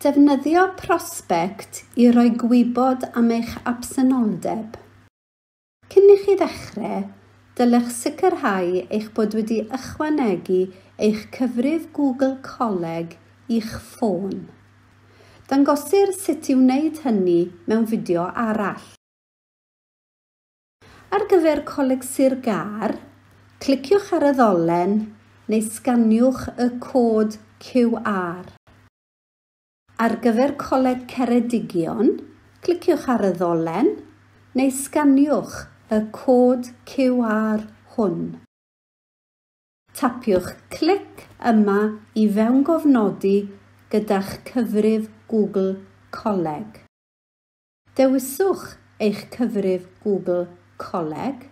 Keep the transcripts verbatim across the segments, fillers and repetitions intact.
Defnyddio Prospect i roi gwybod am eich absenoldeb. Cyn i chi ddechrau, dylech sicrhau eich bod wedi ychwanegu eich cyfrif Google Coleg i'ch ffôn. Dangosir sut i wneud hynny mewn fideo arall. Ar gyfer Coleg Sir Gâr, cliciwch ar y ddolen neu sganiwch y cod Q R. Ar gyfer Coleg Ceredigion, cliciwch ar y ddolen neu sganiwch y cod Q R hwn. Tapiwch clic yma i fewngofnodi gyda'ch cyfrif Google Coleg. Dewiswch eich cyfrif Google Coleg.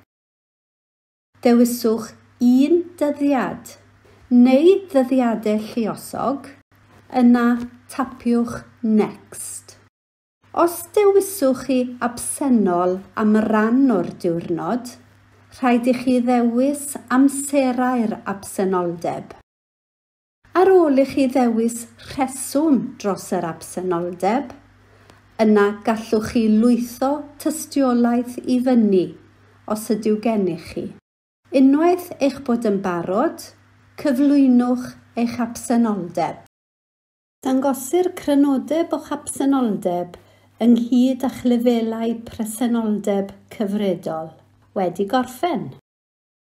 Dewiswch un dyddiad neu ddyddiadau lluosog, yna tapiwch Next. Os dewiswch chi absennol am ran o'r diwrnod, rhaid i chi ddewis amserau'r absenoldeb. Ar ôl i chi ddewis rheswm dros yr absenoldeb, yna gallwch chi lwytho tystiolaeth i fyny os ydyw gennych chi. Unwaith eich bod yn barod, cyflwynwch eich absenoldeb. Dangosir crynodeb o'ch absenoldeb ynghyd â'ch lefelau presenoldeb cyfredol. Wedi gorffen.